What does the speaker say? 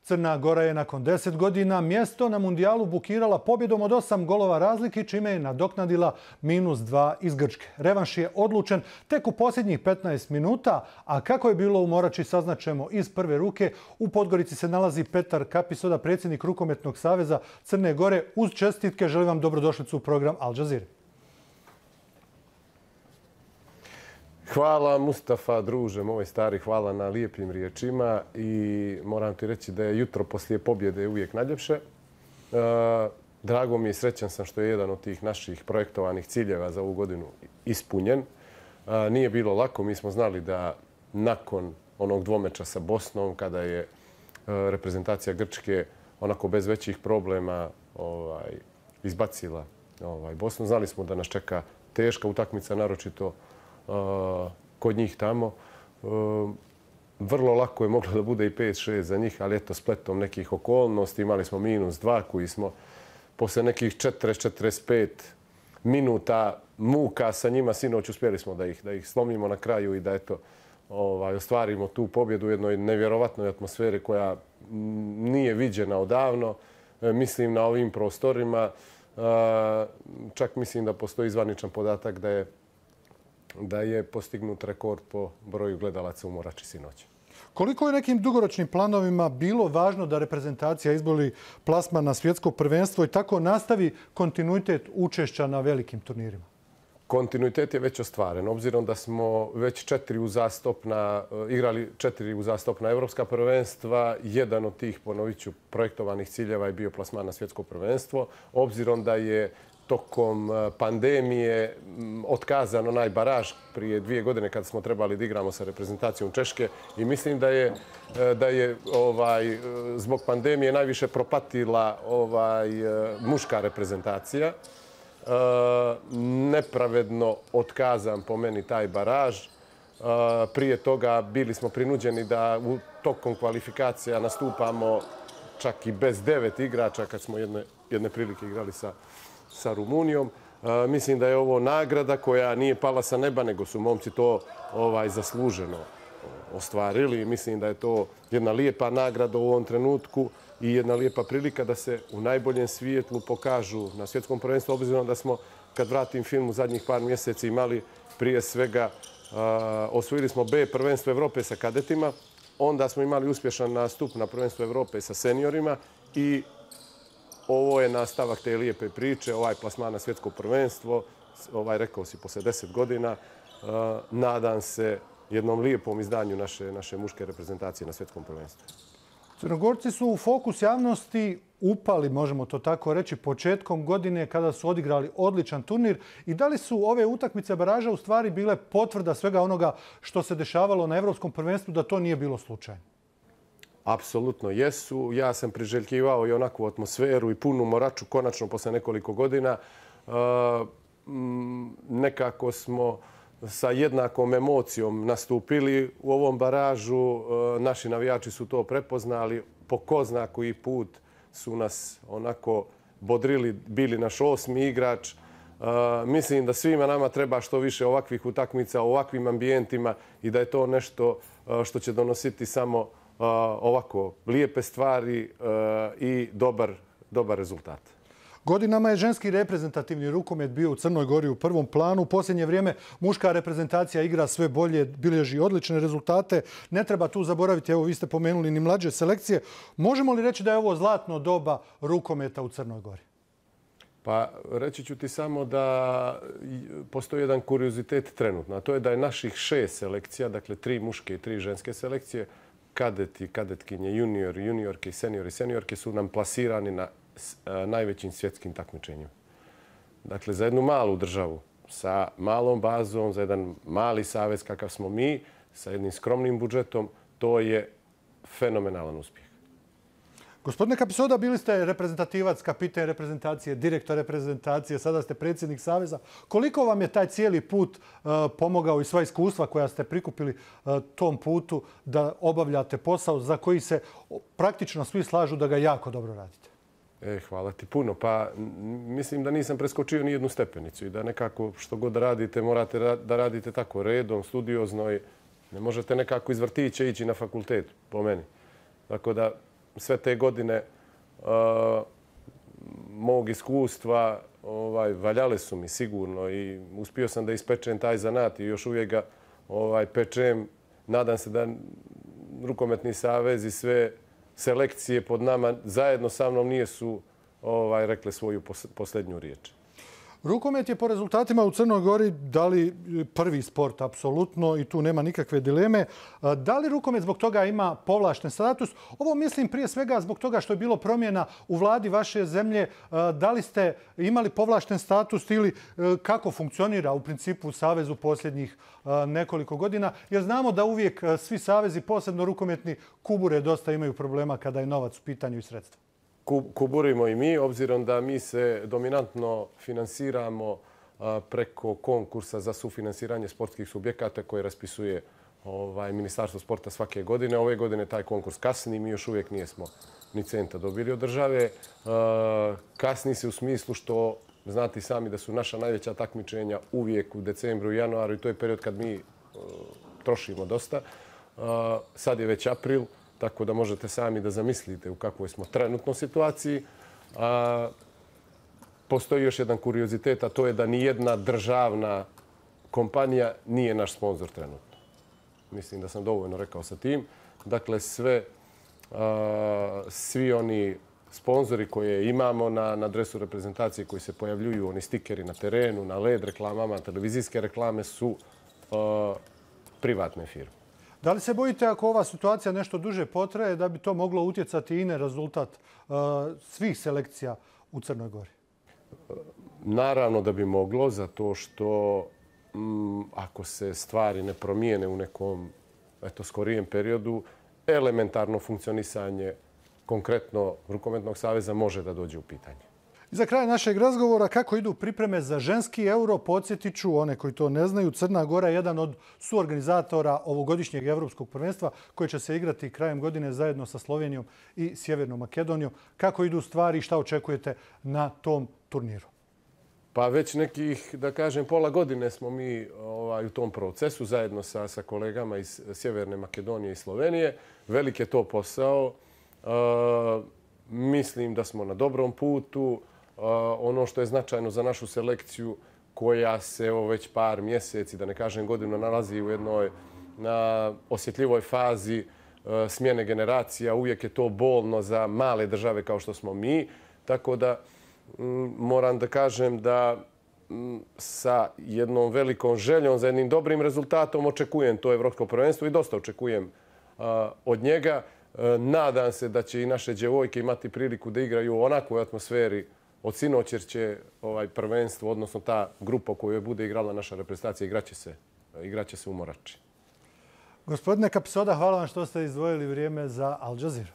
Crna Gora je nakon 10 godina mjesto na mundijalu bukirala pobjedom od 8 golova razlike, čime je nadoknadila -2 iz Grčke. Revanš je odlučen tek u posljednjih 15 minuta, a kako je bilo u Morači saznaćemo iz prve ruke. U Podgorici se nalazi Petar Kapisoda, predsjednik Rukometnog saveza Crne Gore. Uz čestitke želim vam dobrodošlicu u program Al Jazeera. Hvala Mustafa, druže moj stari, hvala na lijepim riječima i moram ti reći da je jutro poslije pobjede uvijek najljepše. Drago mi je i srećan sam što je jedan od tih naših projektovanih ciljeva za ovu godinu ispunjen. Nije bilo lako, mi smo znali da nakon onog dvomeča sa Bosnom, kada je reprezentacija Grčke onako bez većih problema izbacila Bosnu, znali smo da nas čeka teška utakmica, naročito kod njih tamo. Vrlo lako je moglo da bude i 5-6 za njih, ali eto, spletom nekih okolnosti imali smo -2 koji smo posle nekih 40-45 minuta muka sa njima sinoć uspjeli smo da ih slomimo na kraju i da eto ostvarimo tu pobjedu u jednoj nevjerovatnoj atmosferi koja nije viđena odavno. Mislim na ovim prostorima. Čak mislim da postoji zvaničan podatak da je postignut rekord po broju gledalaca u Morači sinoć. Koliko je nekim dugoročnim planovima bilo važno da reprezentacija izbori plasman na svjetsko prvenstvo i tako nastavi kontinuitet učešća na velikim turnirima? Kontinuitet je već ostvaren. Obzirom da smo već igrali 4 uzastopna evropska prvenstva, jedan od tih, ponovit ću, projektovanih ciljeva je bio plasman na svjetsko prvenstvo. Obzirom da je tokom pandemije otkazan onaj baraž prije 2 godine kada smo trebali da igramo sa reprezentacijom Češke i mislim da je zbog pandemije najviše propatila muška reprezentacija. Nepravedno otkazan po meni taj baraž. Prije toga bili smo prinuđeni da tokom kvalifikacija nastupamo čak i bez 9 igrača kad smo jedne prilike igrali sa Rumunijom. Mislim da je ovo nagrada koja nije pala sa neba, nego su momci to zasluženo ostvarili. Mislim da je to jedna lijepa nagrada u ovom trenutku i jedna lijepa prilika da se u najboljem svijetlu pokažu na svjetskom prvenstvu, obzirom da smo, kad vratim film, u zadnjih par mjeseci imali prije svega, osvojili smo B prvenstvo Evrope sa kadetima, onda smo imali uspješan nastup na prvenstvu Evrope sa seniorima i ovo je nastavak te lijepe priče, ovaj plasman na svjetsko prvenstvo, rekao si, posle 10 godina. Nadam se jednom lijepom izdanju naše muške reprezentacije na svjetskom prvenstvu. Crnogorci su u fokus javnosti upali, možemo to tako reći, početkom godine kada su odigrali odličan turnir. I da li su ove utakmice baraža u stvari bile potvrda svega onoga što se dešavalo na Evropskom prvenstvu, da to nije bilo slučajno? Apsolutno jesu. Ja sam priželjkivao i onakvu atmosferu i punu Moraču konačno posle nekoliko godina. Nekako smo sa jednakom emocijom nastupili u ovom baražu. Naši navijači su to prepoznali. Po ko zna koji put su nas onako bodrili, bili naš 8. igrač. Mislim da svima nama treba što više ovakvih utakmica, ovakvim ambijentima i da je to nešto što će donositi samo ovako lijepe stvari i dobar rezultat. Godinama je ženski reprezentativni rukomet bio u Crnoj Gori u prvom planu. U posljednje vrijeme muška reprezentacija igra sve bolje, bilježi odlične rezultate. Ne treba tu zaboraviti, evo vi ste pomenuli, ni mlađe selekcije. Možemo li reći da je ovo zlatno doba rukometa u Crnoj Gori? Pa reći ću ti samo da postoji jedan kuriozitet trenutno, a to je da je naših 6 selekcija, dakle 3 muške i 3 ženske selekcije, kadeti, kadetkinje, juniori, juniorke i seniorke su nam plasirani na najvećim svjetskim takmičenjima. Dakle, za jednu malu državu sa malom bazom, za jedan mali savez kakav smo mi, sa jednim skromnim budžetom, to je fenomenalan uspjeh. Gospodine Kapisoda, bili ste reprezentativac, kapiten reprezentacije, direktor reprezentacije, sada ste predsjednik saveza. Koliko vam je taj cijeli put pomogao i sva iskustva koja ste prikupili tom putu da obavljate posao za koji se praktično svi slažu da ga jako dobro radite? Hvala ti puno. Pa mislim da nisam preskočio ni jednu stepenicu i da nekako što god radite morate da radite tako redom, studiozno i ne možete nekako iz vrtića ići na fakultet, po meni. Tako da sve te godine mog iskustva valjale su mi sigurno i uspio sam da ispečem taj zanat i još uvijek ga pečem. Nadam se da Rukometni savez i sve selekcije pod nama zajedno sa mnom nisu rekle svoju posljednju riječ. Rukomet je po rezultatima u Crnoj Gori dali prvi sport, apsolutno, i tu nema nikakve dileme. Da li rukomet zbog toga ima povlašten status? Ovo mislim prije svega zbog toga što je bilo promjena u vladi vaše zemlje. Da li ste imali povlašten status ili kako funkcionira u principu savez u posljednjih nekoliko godina? Jer znamo da uvijek svi savezi, posebno rukometni, kubure dosta imaju problema kada je novac u pitanju i sredstva. Kuburimo i mi, obzirom da mi se dominantno finansiramo preko konkursa za sufinansiranje sportskih subjekata koje raspisuje Ministarstvo sporta svake godine. Ove godine taj konkurs kasni, mi još uvijek nismo ni centa dobili od države. Kasni se u smislu što znate sami da su naša najveća takmičenja uvijek u decembru i januaru i to je period kad mi trošimo dosta. Sad je već april. Tako da možete sami da zamislite u kakvoj smo trenutno situaciji. Postoji još jedan kuriozitet, a to je da nijedna državna kompanija nije naš sponsor trenutno. Mislim da sam dovoljno rekao sa tim. Dakle, svi oni sponzori koje imamo na dresu reprezentacije koji se pojavljuju, oni stikeri na terenu, na LED reklamama, televizijske reklame su privatne firme. Da li se bojite ako ova situacija nešto duže potraje da bi to moglo utjecati i na rezultat svih selekcija u Crnoj Gori? Naravno da bi moglo, zato što ako se stvari ne promijene u nekom skorijem periodu, elementarno funkcionisanje konkretno Rukometnog saveza može da dođe u pitanje. I za kraj našeg razgovora, kako idu pripreme za ženski euro, podsjetit ću one koji to ne znaju. Crna Gora je jedan od suorganizatora ovogodišnjeg evropskog prvenstva koje će se igrati krajem godine zajedno sa Slovenijom i Sjevernom Makedonijom. Kako idu stvari i šta očekujete na tom turniru? Pa već nekih, da kažem, pola godine smo mi u tom procesu zajedno sa kolegama iz Sjeverne Makedonije i Slovenije. Velik je to posao. Mislim da smo na dobrom putu. Ono što je značajno za našu selekciju koja se već par mjeseci, da ne kažem godinu, nalazi u jednoj osjetljivoj fazi smjene generacija. Uvijek je to bolno za male države kao što smo mi. Tako da moram da kažem da sa jednom velikom željom za jednim dobrim rezultatom očekujem to evropsko prvenstvo i dosta očekujem od njega. Nadam se da će i naše djevojke imati priliku da igraju u onakvoj atmosferi od sinoć, jer će prvenstvo, odnosno ta grupa u kojoj bude igrala naša reprezentacija, igraće se u Morači. Gospodine Kapsoda, hvala vam što ste izdvojili vrijeme za Al Jazeera.